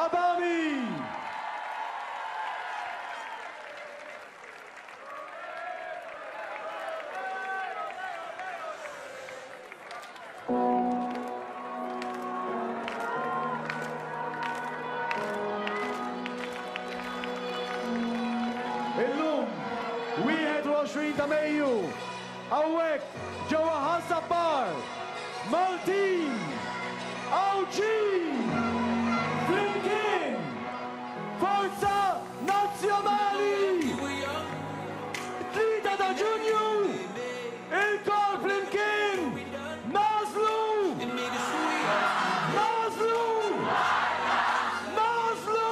Abami! Illum, 21 ta' Mejju, hawnhekk ġewwa Ħaż-Żabbar, Maltin, Għawdxin, flimkien, Forza Nazzjonali! It-Tlieta ta' Ġunju, ilkoll flimkien nagħżlu! Nagħżlu! Nagħżlu!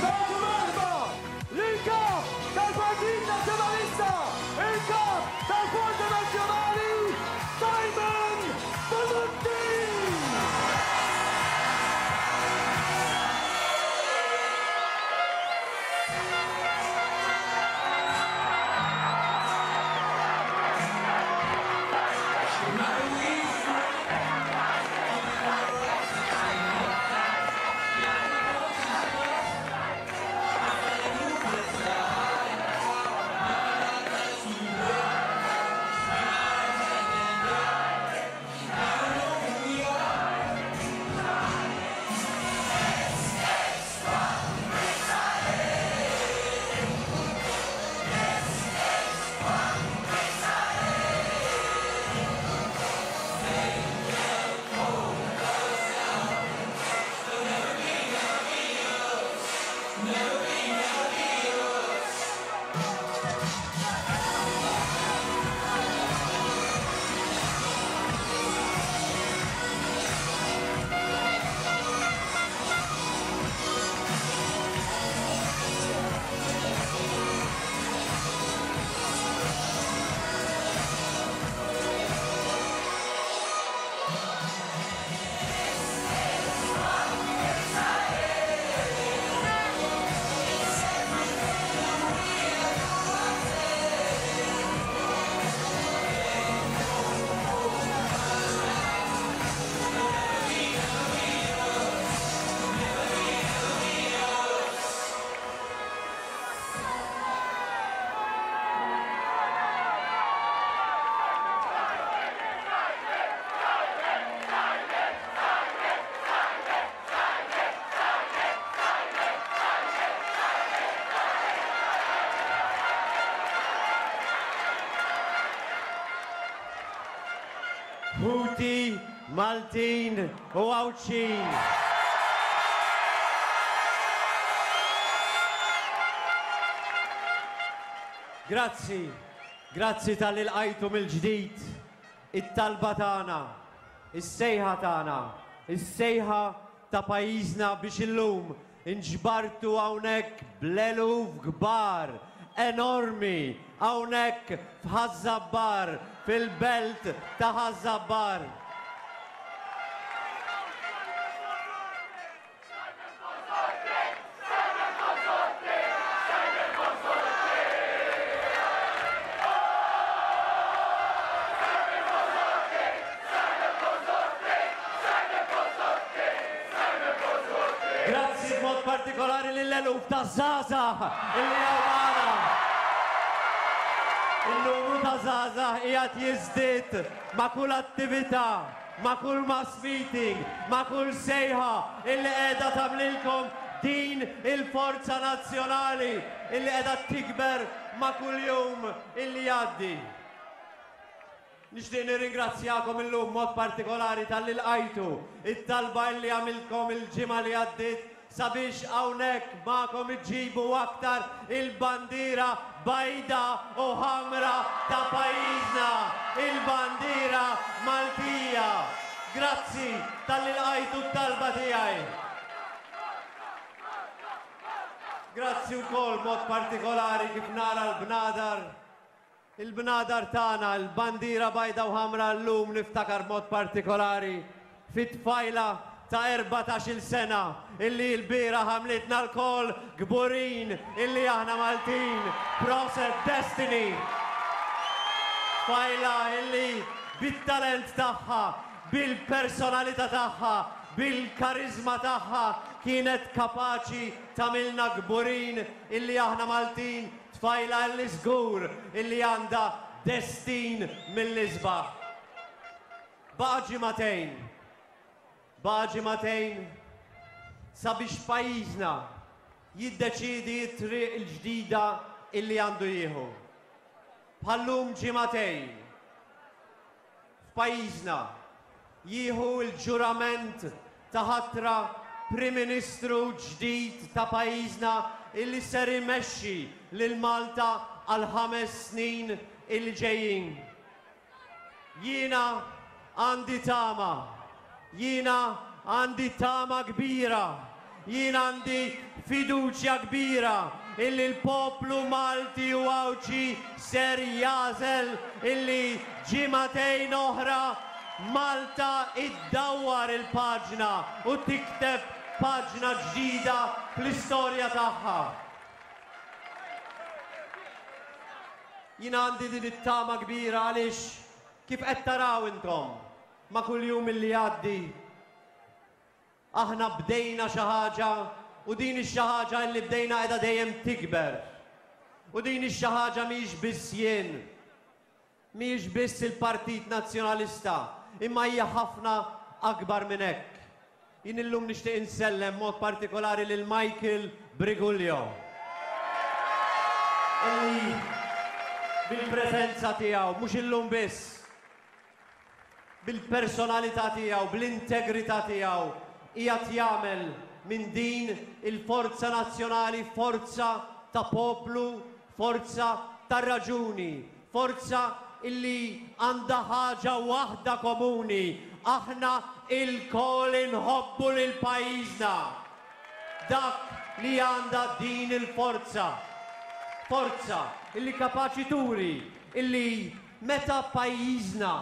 Nagħtu merħba lill-Kap tal-Partit Nazzjonalista, il-Kap tal-Forza Nazzjonali, Simon Busuttil! Ħuti Maltin u Għawdxin. Grazzi, grazzi talli lqajtu mill-ġdid it-talba tagħna, is-sejħa tagħna, is-sejħa ta' pajjiżna biex illum inġbartu hawnhekk bl-eluf kbar, enormi, hawnhekk f'Ħaż-Żabbar, fil-belt ta' Ħaż-Żabbar. Grazzi b'mod partikolari lill-eluf ta' żgħażagħ illi hawn magħna. In-numru ta' żgħażagħ qiegħed jiżdied ma' kull attività, ma' kull mass meeting, ma' kull sejħa illi qiegħda tagħmlilkom din il-forza nazzjonali illi qiegħda tikber ma' kull jum illi jgħaddi. Nixtieq nirringrazzjakom illum b'mod partikolari talli lqajtu t-talba illi għamiltkom il-ġimgħa li għaddiet sabiex hawnhekk magħkom iġġibu aktar il-bandiera bajda u ħamra ta' pajjiżna, il-bandiera Maltija. Grazzi talli lqajtu t-talba tiegħi. Grazzi wkoll b'mod partikolari kif nara l-bnadar, il-bnadar tagħna, il-bandiera bajda u ħamra llum niftakar b'mod partikolari fit-tfajla ta' 14-il sena illi lbieraħ għamlitna lkoll kburin illi aħna Maltin. Proset Destiny! Tfajla illi bit-talent tagħha, bil-personalità tagħha, bil-kariżma tagħha kienet kapaċi tagħmilna kburin illi aħna Maltin, tfajla illi żgur illi għandha destin mill-isbaħ. Baqa' ġimagħtejn. Baqa' ġimagħtejn sabiex pajjiżna jiddeċiedi t-triq il-ġdida illi għandu jieħu. Bħal-lum ġimagħtejn, f'pajjiżna jieħu l-ġurament ta' ħatra Prim Ministru ġdid ta' pajjiżna illi ser imexxi lil Malta għall-ħames snin illi ġejjin. Jiena għandi tama. Jiena għandi tama kbira. Jien għandi fiduċja kbira illi l-poplu Malti u Għawdxi ser jagħżel illi ġimagħtejn oħra Malta iddawwar il-paġna u tikteb paġna ġdida fl-istorja tagħha. Jien għandi din it-tama kbira għaliex kif qed taraw intom ma' kull jum illi jgħaddi aħna bdejna xi ħaġa u din ix-xi ħaġa illi bdejna qiegħda dejjem tikber. U din ix-xi ħaġa mhijiex biss jien, mhijiex biss il-Partit Nazzjonalista, imma hija ħafna akbar minn hekk. Jien illum nixtieq insellem mod partikolari lil Michael Briguglio. Illi bil-preżenza tiegħu, mhux illum biss, bil-personalità tiegħu, bl-integrità tiegħu, qiegħed jagħmel minn din il-forza nazzjonali forza ta' poplu, forza ta' raġuni, Forza illi għandha ħaġa waħda komuni, aħna ilkoll inħobbu lil pajjiżna. Dak li għandha din il-forza. Forza illi kapaċi turi illi meta pajjiżna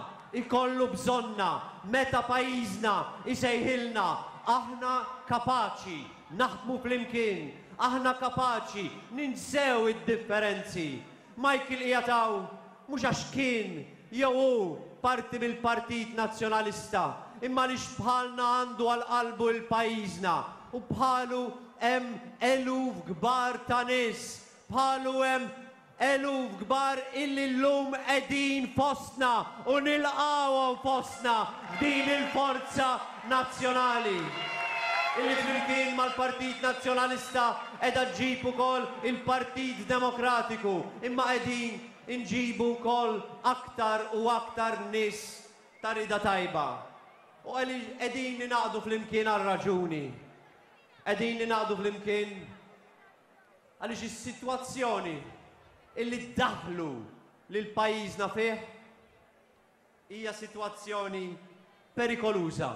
jkollu bżonna, meta pajjiżna jsejħilna, aħna kapaċi naħdmu flimkien, aħna kapaċi ninsew id-differenzi, Michael qiegħed hawn mhux għax kien jew hu parti mill-Partit Nazzjonalista imma għaliex bħalna għandu għal qalbu 'l pajjiżna u bħalu hemm eluf kbar ta' nies, bħalu hemm eluf kbar illi llum qegħdin fostna u nilqgħuhom fostna f'din il-forza nazzjonali illi flimkien mal-Partit Nazzjonalista qiegħda ġġib ukoll il-Partit Demokratiku imma qegħdin inġibu wkoll aktar u aktar nies ta' rieda tajba. U qegħdin ningħaqdu flimkien għal raġuni. Qegħdin ningħaqdu flimkien għaliex is-sitwazzjoni illi daħlu lil pajjiżna fih Hija sitwazzjoni perikoluża.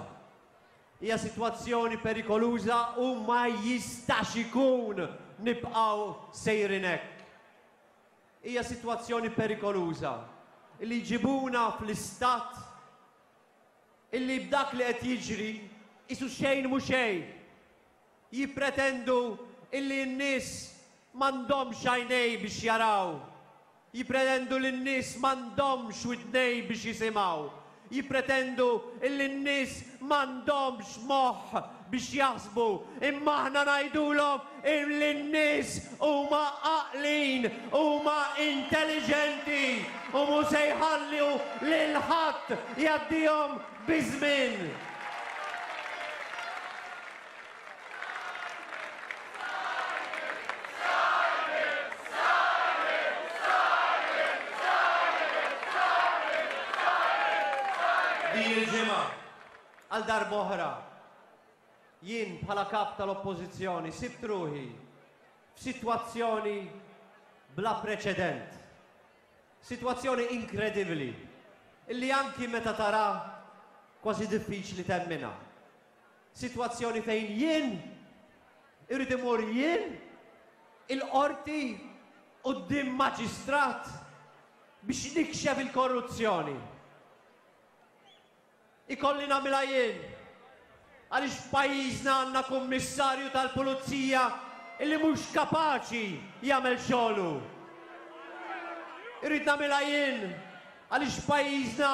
Hija sitwazzjoni perikoluża u ma jistax ikun nibqgħu sejrin hekk. Hija sitwazzjoni perikoluża li jġibuna fl-istat illi b'dak li qed jiġri qisu xejn mhu xejn. Jippretendu illi n-nies m'għandhomx għajnej biex jaraw. Jippretendu li n-nies m'għandhomx widnej biex jisimgħu. Jippretendu illi n-nies m'għandhomx moħħ biex jaħsbu. Imma aħna ngħidulhom illi n-nies huma għaqlin, huma intelliġenti u mhu se jħallu lil ħadd jgħaddihom biż-żmien. Din il-ġimgħa, għal darb'oħra, jien bħala Kap tal-Oppożizzjoni sibt ruħi f'sitwazzjoni bla preċedent. Sitwazzjoni inkredibbli illi anki meta tara. Kważi diffiċli temminha. Sitwazzjoni fejn jien irrid imur jien il-qorti quddiem maġistrat biex nikxef il-korruzzjoni. Ikolli nagħmilha jien għaliex f'pajjiżna għandna kummissarju tal-pulizija illi mhux kapaċi jagħmel xogħlu. Irrid nagħmilha jien għaliex f'pajjiżna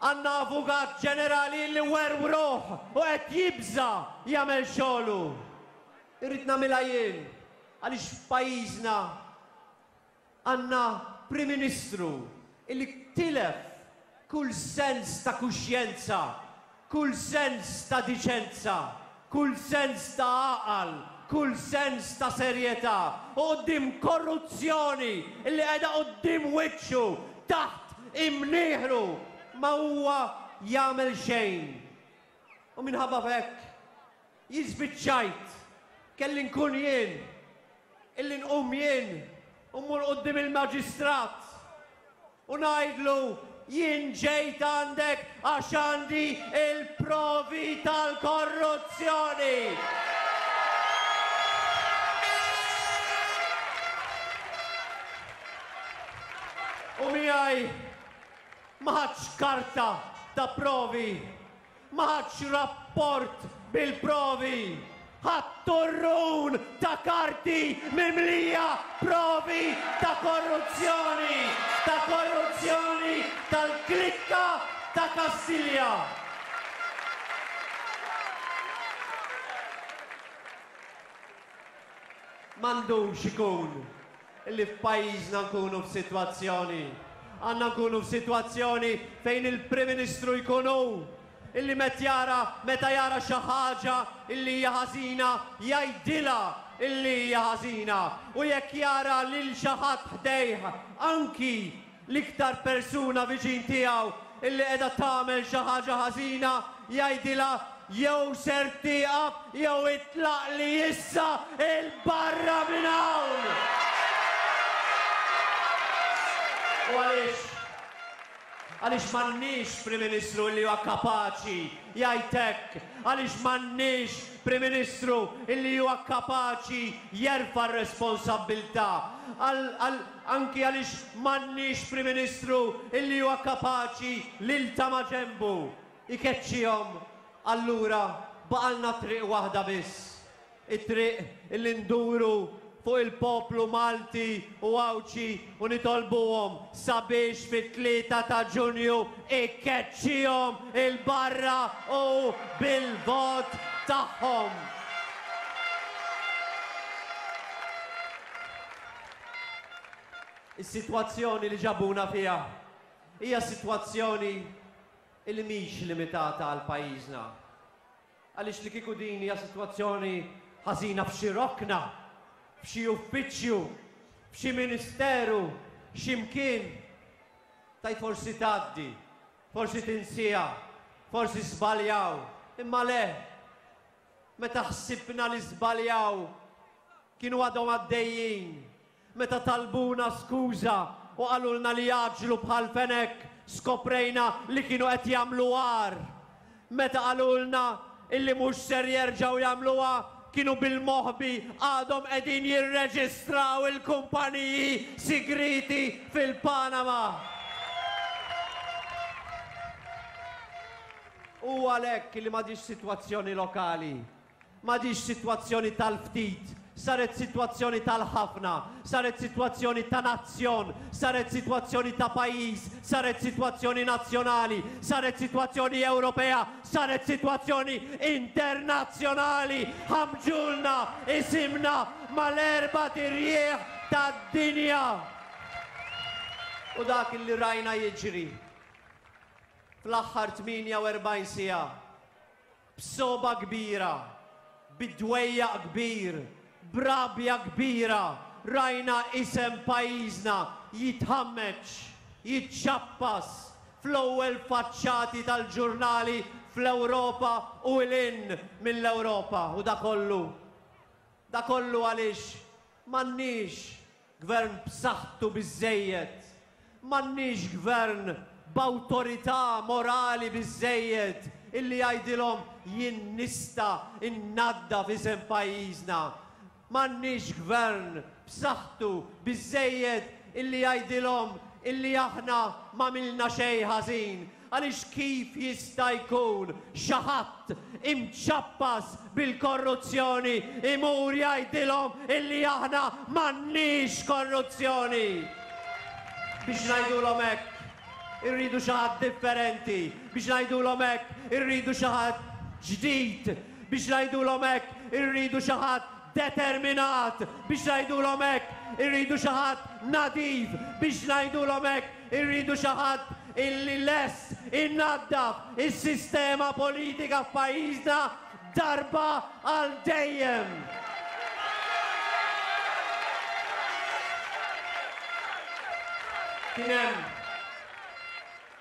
għandna avukat ġenerali illi werwruh u qed jibża' jagħmel xogħlu. Irrid nagħmilha jien għaliex f'pajjiżna Għandna Prim Ministru illi tilef kull sens ta' kuxjenza, kull sens ta' diċenza, kull sens ta' għaqal, kull sens ta' serjetà u quddiem korruzzjoni illi qiegħda quddiem wiċċu, taħt imnieħru, ma huwa jagħmel xejn. U minħabba f'hekk, jien spiċċajt, kelli nkun jien illi nqum jien u mmur quddiem il-maġistrat u ngħidlu jien ġejt għandek għax għandi il-provi tal-korruzzjoni. U miegħi ma ħadx karta ta' provi Ma ħadx rapport bil-provi. Ħadt turrun ta' karti mimlija provi ta' korruzzjoni, ta' korruzzjoni tal-klikka ta' Kastilja. M'għandux ikun li f'pajjiżna nkunu f'sitwazzjoni, għandna nkunu f'sitwazzjoni fejn il-Prim Ministru jkun hu illi met jara meta jara xi ħaġa illi hija ħażina jgħidilha illi hija ħażina u jekk jara lil xi ħadd ħdejh anki l-iktar persuna viċin tiegħu illi qiegħda tagħmel xi ħaġa ħażina, jgħidilha jew ser tieqaf jew itlaqli issa 'l barra minn hawn! U għaliex? Għaliex m'għandniex Prim Ministru illi huwa kapaċi jgħid hekk? Għaliex m'għandniex Prim Ministru illi huwa kapaċi jerfa' r-responsabbiltà? Għal, għal, Anki għaliex m'għandniex Prim Ministru illi huwa kapaċi lil ta' maġenbu jkeċċihom, allura baqalna triq waħda biss, it-triq illi nduru fuq il-poplu Malti u Għawdxi u nitolbuhom sabiex fit-tlieta ta' Ġunju ikeċċihom 'il barra u bil-vot tagħhom. Is-sitwazzjoni li ġabuna fiha hija sitwazzjoni li mhix limitata għal pajjiżna. Għaliex li kieku din hija sitwazzjoni ħażina f'xi rokna, f'xi uffiċċju, f'xi ministeru, xi mkien, tgħid forsi tgħaddi, forsi tinsiha, forsi żbaljaw, imma le, Meta ħsibna li żbaljaw, kienu għadhom għaddejjin. Meta talbuna skuża u qalulna li jgħaġġlu bħal fenek, skoprejna li kienu qed jagħmlu agħar. Meta qalulna illi mhux ser jerġgħu jagħmluha, kienu bil-moħbi għadhom qegħdin jirreġistraw il-kumpaniji sigrieti fil-Panama. Hu għalhekk li m'għadhiex sitwazzjoni lokali, m'għadhiex sitwazzjoni tal-ftit, saret sitwazzjoni tal-ħafna, saret sitwazzjoni ta' nazzjon, saret sitwazzjoni ta' pajjiż, saret sitwazzjoni nazzjonali, saret sitwazzjoni Ewropea, saret sitwazzjoni internazzjonali. Ħammġulna isimna mal-erbat irjieħ tad-dinja. U dak li rajna jiġri Fl-aħħar 48 siegħa, b'sogħba kbira, bi dwejjaq kbir, b'rabja kbira rajna isem pajjiżna jitħammeġ, jiċċappas fl-ewwel faċċati tal-ġurnali fl-Ewropa u 'l hinn mill-Ewropa. U da kollu, da kollu għaliex m'għandniex Gvern b'saħħtu biżżejjed. M'għandniex gvern b'awtorità morali biżżejjed illi jgħidilhom jien nista' nnaddaf isem pajjiżna. M'għandniex gvern b'saħħtu biżżejjed illi jgħidilhom illi aħna m'għamilna xejn ħażin. Għaliex kif jista' jkun xi ħadd imċappas bil-korruzzjoni imur jgħidilhom illi aħna m'għandniex korruzzjoni? Biex ngħidulhom hekk, irridu xi ħadd differenti. Biex ngħidulhom hekk, irridu xi ħadd ġdid. Biex ngħidulhom hekk, irridu xi ħadd determinat. Biex ngħidulhom hekk, irridu xi ħadd nadif. Biex ngħidulhom hekk, irridu xi ħadd illi lest inaddaf is-sistema politika f'pajjiżna darba għal dejjem. Kien hemm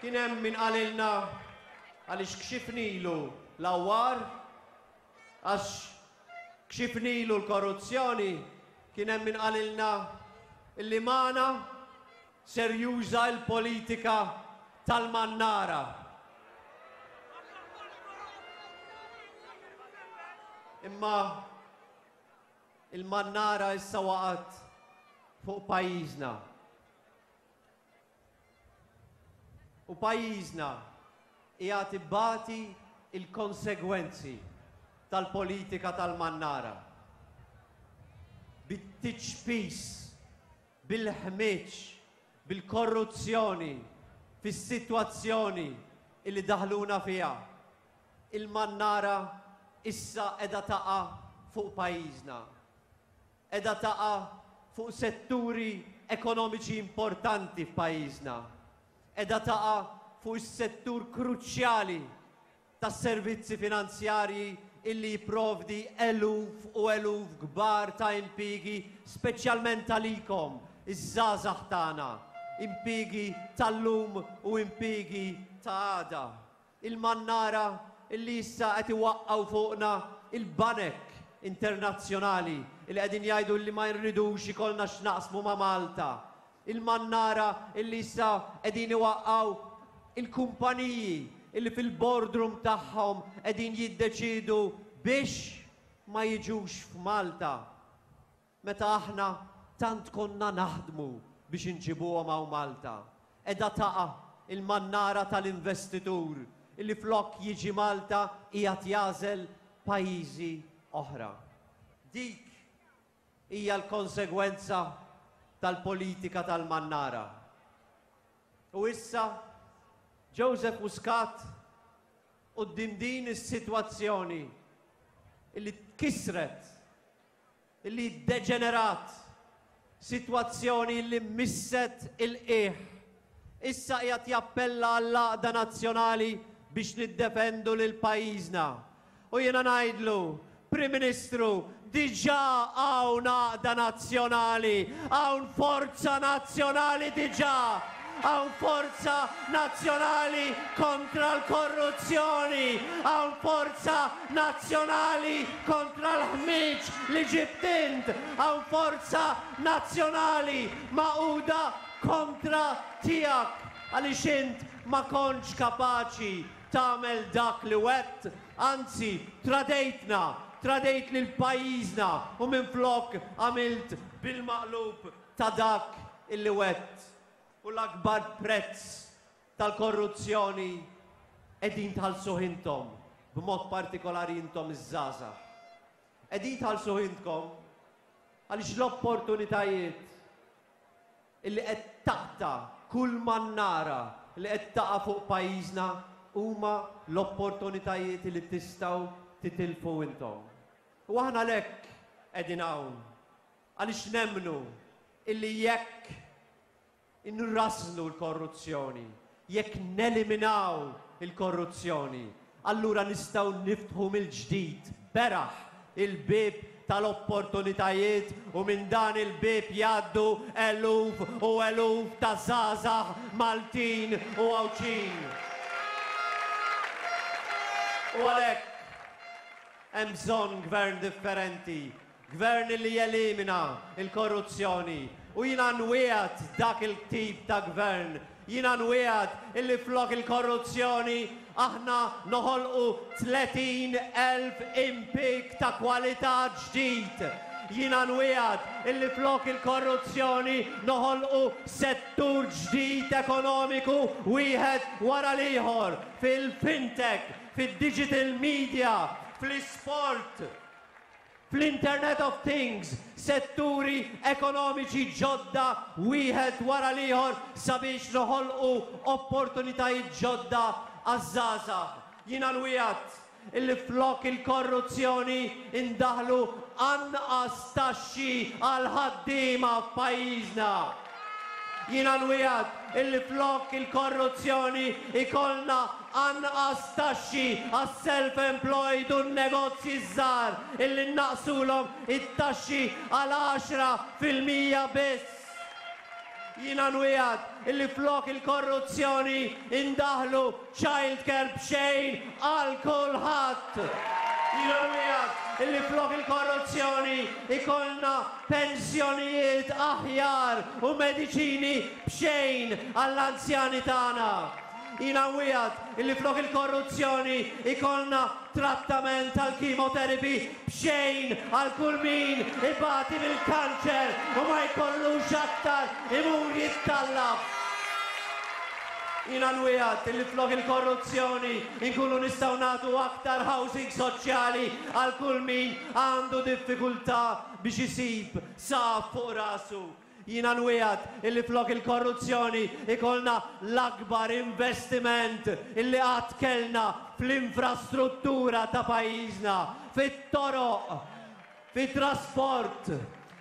kien hemm min qalilna għaliex kxifnilu l-għawwar, għax kxifnilu l-korruzzjoni, kien hemm min qalilna illi magħna ser juża l-politika tal-mannara. Imma il-mannara issa waqgħet fuq pajjiżna. U pajjiżna qiegħed ibati l-konsegwenzi tal-politika tal-mannara. Bit-tiċpis, bil-ħmieġ, bil-korruzzjoni, fis-sitwazzjoni illi daħluna fiha. Il-mannara issa qiegħda taqa' fuq pajjiżna. Qiegħda taqa' fuq setturi ekonomiċi importanti f'pajjiżna. Qiegħda taqa' fuq is-settur kruċjali tas-servizzi finanzjarji illi jipprovdi eluf u eluf kbar ta' impiegi speċjalment għalikom, iż-żgħażagħ tagħna, impiegi tal-lum u impiegi ta' għada. Il-mannara illi issa qed iwaqqgħu fuqna il-banek internazzjonali illi qegħdin jgħidu illi ma jridux ikollna x'naqsmu ma' Malta. Il-mannara illi issa qegħdin iwaqqgħu il-kumpaniji illi fil-boardroom tagħhom qegħdin jiddeċiedu biex ma jiġux f'Malta. Meta aħna tant konna naħdmu biex inġibuhom hawn Malta, qiegħda taqa' il-mannara tal-investitur illi flok jiġi Malta qiegħed jagħżel pajjiżi oħra. Dik hija l-konsegwenza tal-politika tal-mannara. U issa Joseph Muscat quddiem din is-sitwazzjoni illi tkissret li ddeġenerat, sitwazzjoni li misset il-qiegħ. Issa qiegħed jappella għall-għaqda nazzjonali biex niddefendu lil pajjiżna. U jiena ngħidlu, Prim Ministru, diġà hawn għaqda nazzjonali, hawn forza nazzjonali diġà. Hawn forza nazzjonali kontra l-korruzzjoni, hawn forza nazzjonali kontra l-ħmieġ li ġibt int, hawn forza nazzjonali magħquda kontra tiegħek għaliex int ma kontx kapaċi tagħmel dak li wegħdt, anzi tradejtna, tradejt lil pajjiżna u minflok għamilt bil-maqlub ta' dak illi wegħdt. U l-akbar prezz tal-korruzzjoni qegħdin tħallsuh intom, b'mod partikolari intom iż-żgħażagħ. Qegħdin tħallsuh intkom għaliex l-opportunitajiet illi qed taqta' kull mannara li qed taqa' fuq pajjiżna huma l-opportunitajiet li tistgħu titilfu intom. U aħna għalhekk qegħdin hawn Għaliex nemmnu illi jekk inrażżnu l-korruzzjoni, jekk neliminaw il-korruzzjoni, allura nistgħu niftħu mill-ġdid beraħ il-bieb tal-opportunitajiet u minn dan il-bieb jgħaddu eluf u eluf ta' żgħażagħ Maltin u Għawdxin. U għalhekk hemm bżonn gvern differenti Gvern li jelimina l-korruzzjoni u jiena nwiegħed dak il-tip ta' gvern. Jiena nwiegħed illi flok il-korruzzjoni aħna noħolqu 30,000 impieg ta' kwalità ġdid. Jiena nwiegħed illi flok il-korruzzjoni noħolqu settur ġdid ekonomiku wieħed wara l-ieħor fil-fintech, fid-digital media, fl-isport, fl-Internet of Things, setturi ekonomiċi ġodda wieħed wara l-ieħor sabiex noħolqu opportunitajiet ġodda għaż-żgħażagħ. Jiena nwiegħed illi flok il-korruzzjoni indaħħlu anqas taxxi għall-ħaddiema f'pajjiżna. Jiena nwiegħed illi flok il-korruzzjoni ikollna anqas taxxi għas-self-employed u n-negozji ż-żgħar illi nnaqqsulhom it-taxxi għal 10% biss. Jiena nwiegħed illi flok il-korruzzjoni indaħħlu child care b'xejn għal kulħadd. Jiena nwiegħed illi flok il-korruzzjoni ikollna pensjonijiet aħjar u mediċini b'xejn għall-anzjani tagħna. Jiena nwiegħed illi flok il-korruzzjoni ikollna trattament tal-chemotherapy b'xejn għal kull min ibati mill-kanċer u ma jkollux aktar imur jittallab. Jiena nwiegħed illi flok il-korruzzjoni nkunu nistgħu nagħtu aktar housing soċjali għal kull min għandu diffikultà biex isib saqaf fuq rasu. Jiena nwiegħed illi flok il-korruzzjoni ikollna l-akbar investiment illi qatt kellna fl-infrastruttura ta' pajjiżna, fit-toroq, fit-trasport,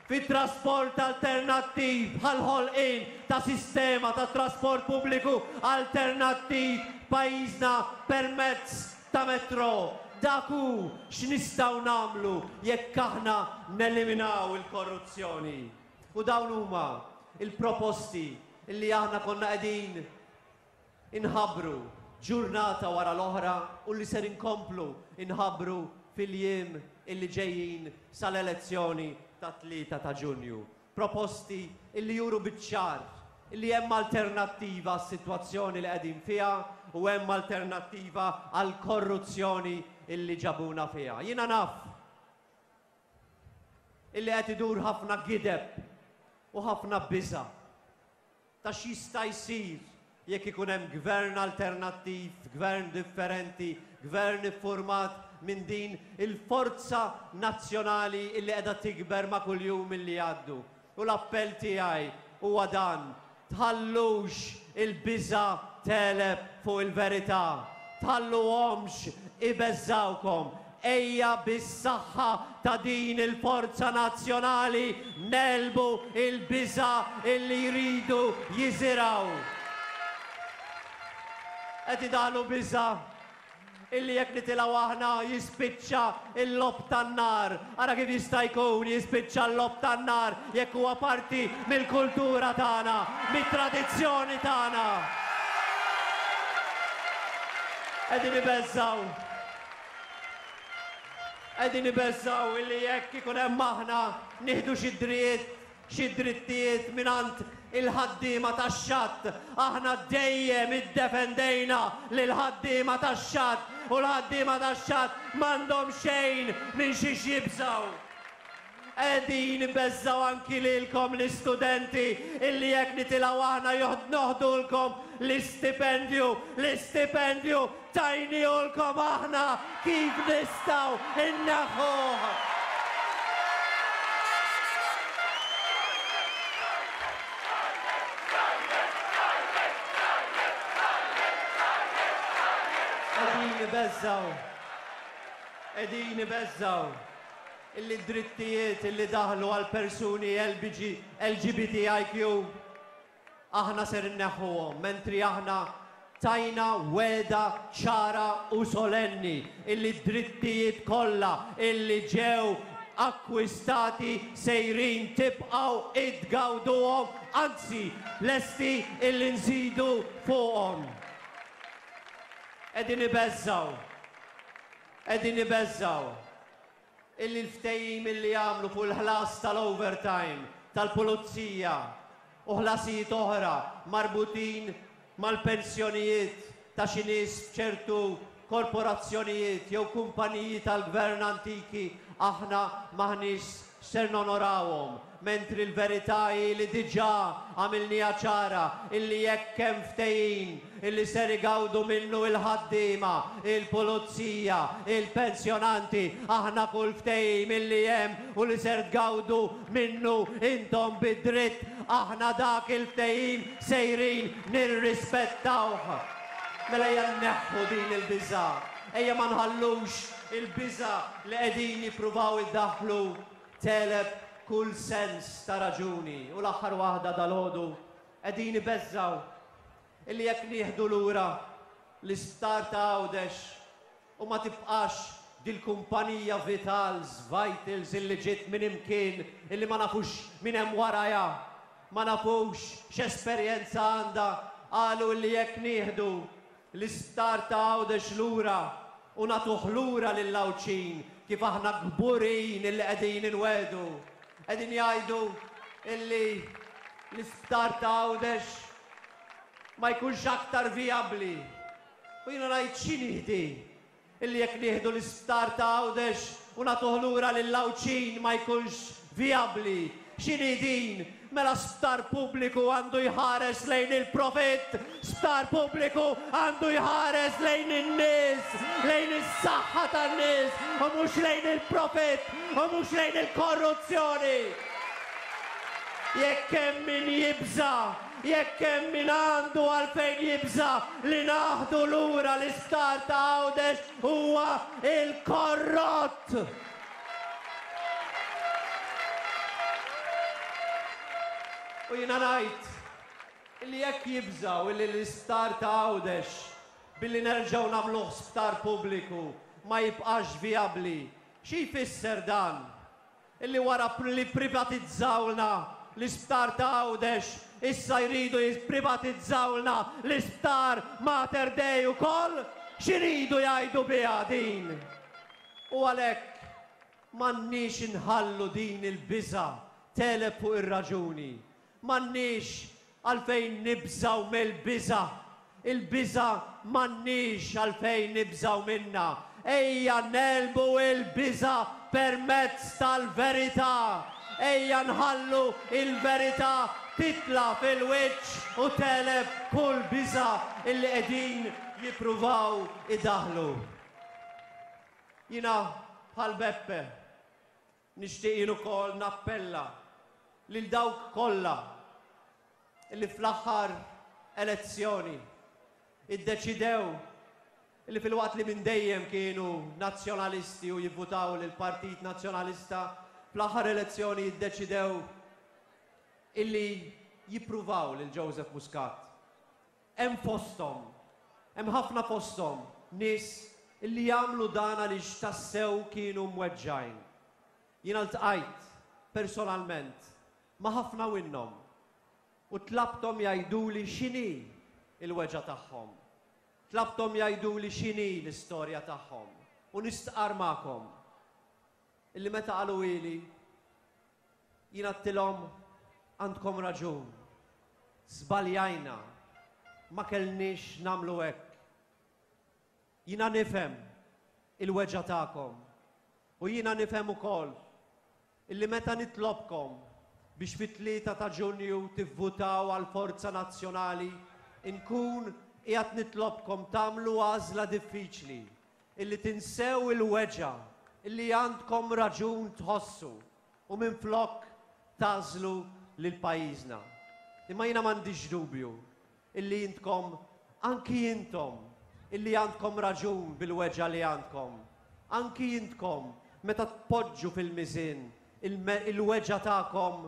fit-trasport alternattiv bħall-ħolqien ta' sistema ta' trasport pubbliku alternattiv f'pajjiżna permezz ta' metro. Dak hu x'nistgħu nagħmlu jekk aħna neliminaw il-korruzzjoni. U dawn huma l-proposti li aħna konna qegħdin inħabbru ġurnata wara l-oħra u li ser inkomplu nħabbru fil-jiem illi ġejjin sal-elezzjoni tat-3 ta' Ġunju. Proposti illi juru biċ-ċar illi hemm alternattiva għas-sitwazzjoni li qegħdin fiha u hemm alternattiva għall-korruzzjoni illi ġabuna fiha. Jiena naf illi qed idur ħafna gideb u ħafna biża' ta' x'jista' jsir jekk ikun hemm gvern alternattiv, gvern differenti, gvern iffurmat minn din il-forza nazzjonali illi qiegħda tikber ma' kull jum illi jgħaddu. U l-appell tiegħi huwa dan, Tħallux il-biża' tegħleb fuq il-verità. Tħalluhomx ibeżżgħukom. Ejja bis-saħħa ta' din il-forza nazzjonali negħlbu l-biża' illi jridu jiżirgħu. Qed idaħħlu biża' Illi jekk nitilgħu aħna jispiċċa l-logħob tan-nar. Ara kif jista' jkun jispiċċa l-logħob tan-nar jekk huwa parti mill-kultura tagħna, mit-tradizzjoni tagħna. Qegħdin ibeżżgħu. Qegħdin ibeżżgħu illi jekk ikun hemm aħna nieħdu xi dritt xi drittijiet mingħand il-ħaddiema tax-xatt. Aħna dejjem iddefendejna lill-ħaddiema tax-xatt u l-ħaddiema tax-xatt m'għandhom xejn minn xiex jibżgħu. Qegħdin ibeżżgħu anki lilkom l-istudenti illi jekk nitilgħu aħna noħdulkom l-istipendju, l-istipendju Tajnihulkom aħna kif nistgħu nneħħuh. Qegħdin ibeżżgħu, qegħdin ibeżżgħu illi d-drittijiet illi daħlu għal persuni LGBTIQ Aħna ser inneħħuhom, mentri aħna tajna wegħda ċara u solenni illi d-drittijiet kollha illi ġew akkwistati sejrin tibqgħu itgawduhom, anzi lesti illi nżidu fuqhom. Qegħdin ibeżżgħu. Qegħdin ibeżżgħu. Illi l-ftehim illi għamlu fuq il-ħlas tal-overtime tal-pulizija u ħlasijiet oħra marbutin mal-pensjonijiet ta' xi nies f'ċertu korporazzjonijiet jew kumpaniji tal-gvern antiki aħna m'aħniex ser nonorawhom, mentri l-verità hi li diġà għamilniha ċara illi jekk hemm ftehim illi ser igawdu minnu il-ħaddiema, il-pulizija, il-pensjonanti, aħna kull ftehim illi hemm u li ser tgawdu minnu intom bi dritt, aħna dak il-ftehim sejrin nirrispettawh. Mela ejja nneħħu din il-biża'. Ejja ma nħallux il-biża' li qegħdin jippruvaw idaħħlu tegħleb kull sens ta' raġuni. U l-aħħar waħda dalgħodu, qegħdin ibeżżgħu illi jekk nieħdu lura l-isptar ta' Għawdex u ma tibqax dil-kumpanija Vitals, Vitals illi ġiet minn imkien illi ma nafux min hemm warajha, ma nafux x'esperjenza għandha, qalu illi jekk nieħdu l-isptar ta' Għawdex lura u nagħtuh lura lill-Għawdxin kif aħna kburin illi qegħdin inwegħdu, qegħdin jgħidu illi l-isptar ta' Għawdex ma jkunx aktar vijabbli. U jiena ngħid x'inhi di illi jekk nieħdu l-isptar ta' Għawdex u nagħtuh lura lill-Għawdxin ma jkunx vijabbli? X'inhi din? Mela sptar pubbliku għandu jħares lejn il-profitt, sptar pubbliku għandu jħares lejn in-nies, lejn is-saħħa tan-nies u mhux lejn il-profitt u mhux lejn il-korruzzjoni. Jekk hemm min jibża', jekk hemm min għandu għalfejn jibża' li naħdu lura l-isptar ta' Għawdex huwa l-korrott! U jiena ngħid li jekk jibżgħu li l-isptar ta' Għawdex billi nerġgħu nagħmluh sptar pubbliku ma jibqax vijabbli, xi jfisser dan? Illi wara li pprivatizzawlna l-isptar ta' Għawdex issa jridu jipprivatizzawlna l-isptar Mater Dei ukoll? X'iridu jgħidu biha din? U għalhekk m'għandniex inħallu din il-biża' tegħleb fuq ir-raġuni. M'għandniex għalfejn nibżgħu mill-biża'. Il-biża' m'għandniex għalfejn nibżgħu minnha. Ejja negħlbu l-biża' permezz tal-verità. Ejja nħallu l-verità titla' fil-wiċċ u tegħleb kull biża' illi qegħdin jippruvaw idaħħlu. Jiena bħal Beppe. Nixtieq jien ukoll nappella lil dawk kollha li fl-aħħar elezzjoni iddeċidew li filwaqt li minn dejjem kienu Nazzjonalisti u jivvutaw lill-Partit Nazzjonalista, fl-aħħar elezzjoni iddeċidew illi jippruvaw lil Joseph Muscat. Hemm fosthom, hemm ħafna fosthom, nies li jagħmlu dan għaliex tassew kienu mweġġgħin. Jiena ltqajt personalment ma' ħafna minnhom u tlabthom jgħiduli x'inhi l-weġgħa tagħhom. Tlabthom jgħiduli x'inhi l-istorja tagħhom u nistqarr magħkom illi meta qaluhieli Jien għedtilhom, Għandkom raġun. Żbaljajna. Ma kellniex nagħmlu hekk. Jiena nifhem il-weġgħa tagħkom. U jiena nifhem ukoll illi meta nitlobkom biex fit-tlieta ta' Ġunju tivvutaw għall-Forza Nazzjonali, inkun qiegħed nitlobkom tagħmlu għażla diffiċli, illi tinsew il-weġgħa illi għandkom raġun tħossu u minflok tagħżlu lil pajjiżna. Imma jiena m'għandix dubju illi intkom, anki intom, illi għandkom raġun bil-weġgħa li għandkom, anki intkom meta tpoġġu fil-miżien il-weġgħa tagħkom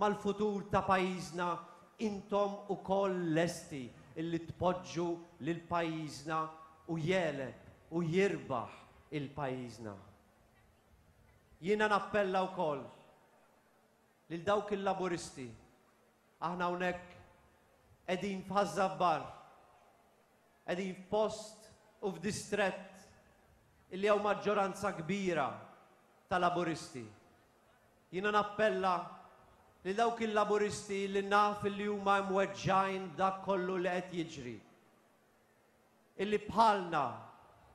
mal-futur ta' pajjiżna, intom ukoll lesti illi tpoġġu lil pajjiżna u jegħleb u jirbaħ il-pajjiżna. Jiena nappella wkoll lil dawk il-Laburisti, aħna hawnhekk qegħdin f'Ħaż-Żabbar, qegħdin f'post u f'distrett illi hawn maġġoranza kbira ta' Laburisti. Jiena nappella. lil dawk il-Laburisti li naf li huma mweġġgħin b'dak kollu li qed jiġri. Illi bħalna,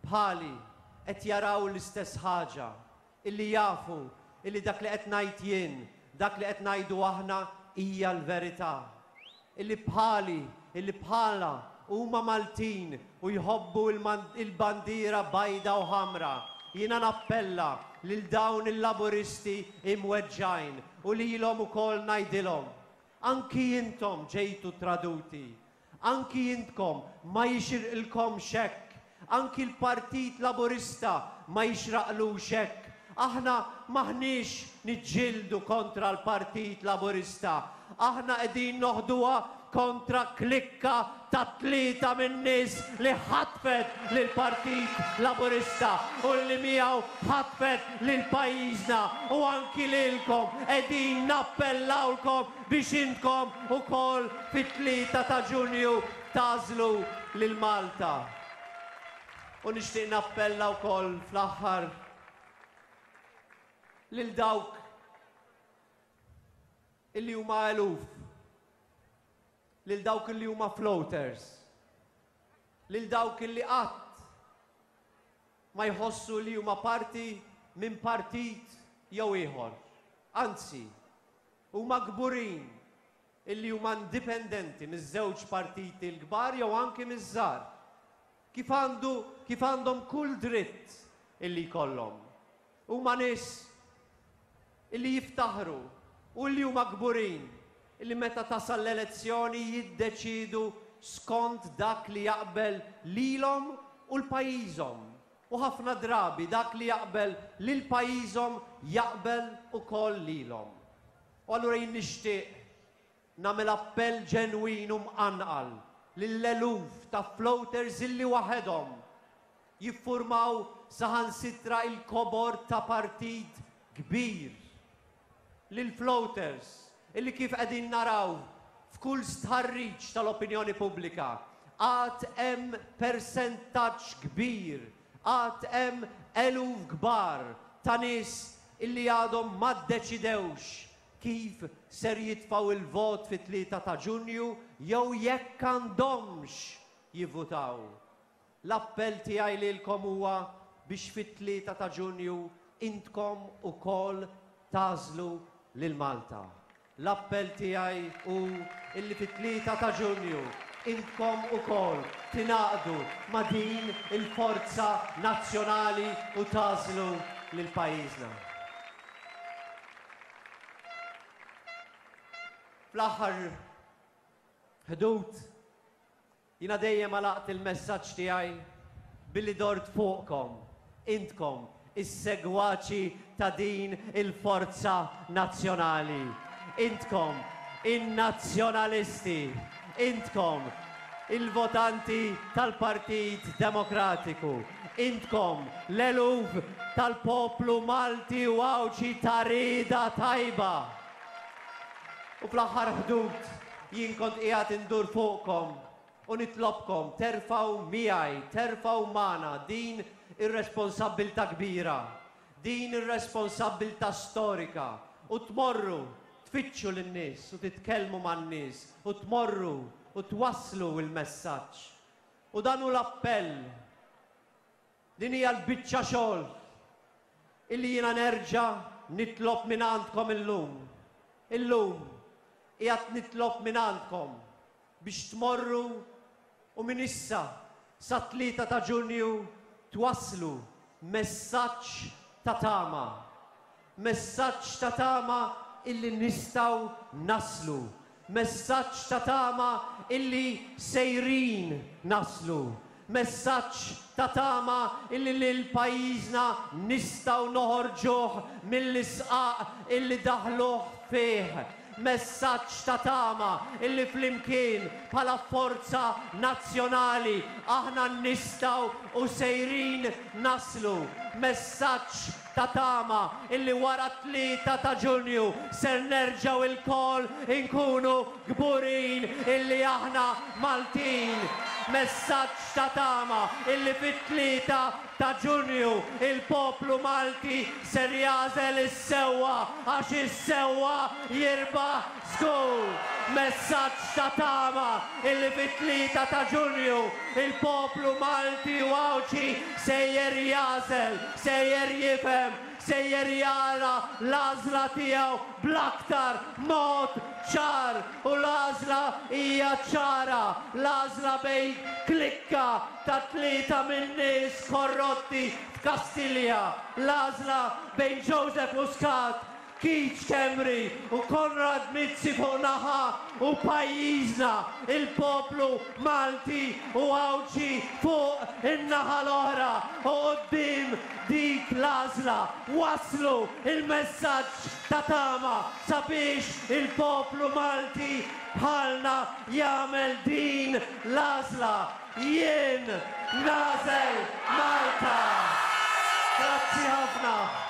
bħali, qed jaraw l-istess ħaġa, illi jafu illi dak li qed ngħid jien, dak li qed ngħidu aħna hija l-verità. Illi bħali, illi bħalna huma Maltin u jħobbu il-bandiera bajda u ħamra. Jiena nappella lil dawn il-Laburisti imweġġgħin u lilhom ukoll ngħidilhom, anki intom ġejtu traduti, Anki intkom ma jixirqilkomx hekk. Anki l-Partit Laburista ma jixraqlux hekk. Aħna m'aħniex niġġieldu kontra l-Partit Laburista. Aħna qegħdin noħduha kontra klikka ta' tlieta min-nies li ħatfet lill-Partit Laburista u li miegħu ħatfet lil pajjiżna u anki lilkom qegħdin nappellawlkom biex intkom ukoll fit-3 ta' Ġunju tagħżlu lil Malta. U nixtieq nappella wkoll fl-aħħar lil dawk illi huma eluf, lil dawk illi huma floaters, lil dawk illi qatt ma jħossu li huma parti minn partit jew ieħor. Anzi, Huma kburin illi huma indipendenti miż-żewġ partiti l-kbar jew anki miż-żgħar. Kif għandu, kif għandhom kull dritt illi jkollhom. Huma nies illi jiftaħru u illi huma kburin illi meta tasal l-elezzjoni jiddeċiedu skont dak li jaqbel lilhom u l-pajjiżhom. U ħafna drabi dak li jaqbel lil pajjiżhom jaqbel ukoll lilhom. U allura jien nixtieq nagħmel appell ġenwin u mqanqal lill-eluf ta' floaters illi waħedhom jiffurmaw saħansitra il-kobor ta' partit kbir. Lill-floaters illi kif qegħdin naraw f'kull stħarriġ tal-opinjoni pubblika, għad hemm persentaġġ kbir, għad hemm eluf kbar ta' nies illi għadhom ma ddeċidewx kif ser jitfgħu l-vot fit-3 ta' Ġunju jew jekk għandhomx jivvutaw. L-appell tiegħi lilkom huwa biex fit-3 ta' Ġunju intkom ukoll tagħżlu lil Malta. L-appell tiegħi hu illi fit-3 ta' Ġunju intkom ukoll tingħaqdu ma' din il-forza nazzjonali u tagħżlu lil pajjiżna. Fl-aħħar ħdud Jiena dejjem għalaqt il-messaġġ tiegħi billi dort fuqkom, intkom, is-segwaċi ta' din il-forza nazzjonali. Intkom, in-nazzjonalisti. Intkom, il-votanti tal-Partit Demokratiku. Intkom, l-eluf tal-poplu Malti u Għawdxi ta' rieda tajba. U fl-aħħar ħdud jien kont qiegħed indur fuqkom u nitlobkom terfgħu miegħi, terfgħu magħna din ir-responsabbiltà kbira, din ir-responsabbiltà storika u tmorru tfittxu lin-nies u titkellmu man-nies u tmorru u twasslu l-messaġġ. U dan hu l-appell. Din hija l-biċċa xogħol illi jiena nerġa' nitlob mingħandkom illum. Illum qiegħed nitlob mingħandkom biex tmorru u minn issa sat-3 ta' Ġunju twasslu messaġġ ta' tama. Messaġġ ta' tama illi nistgħu naslu. Messaġġ ta' tama illi sejrin naslu. Messaġġ ta' tama illi lil pajjiżna nistgħu noħorġuh mill-isqaq illi daħluh fih. Messaġġ ta' tama illi flimkien bħala forza nazzjonali aħna nistgħu u sejrin naslu. Messaġġ ta' tama illi wara t-3 ta' Ġunju ser nerġgħu lkoll inkunu kburin illi aħna Maltin. Messaġġ ta' tama illi fit-3 ta' Ġunju il-poplu Malti ser jagħżel is-sewwa għax is-sewwa jirbaħ żgur. Messaġġ ta' tama illi fit-3 ta' Ġunju il-poplu Malti u Għawdxi sejjer jagħżel, sejjer jifhem, sejjer jara l-għażla tiegħu bl-aktar mod ċar u l-għażla hija ċara, l-għażla bejn klikka ta' tlieta min-nies korrotti f'Kastilja, l-għażla bejn Joseph Muscat, Keith Schembri u Konrad Mizzi fuq naħa u pajjiżna, il-poplu Malti u Għawdxi fuq in-naħa l-oħra u quddiem dik l-għażla wasslu l-messaġġ ta' tama sabiex il-poplu Malti bħalna jagħmel din l-għażla. Jien nagħżel Malta! Grazzi ħafna.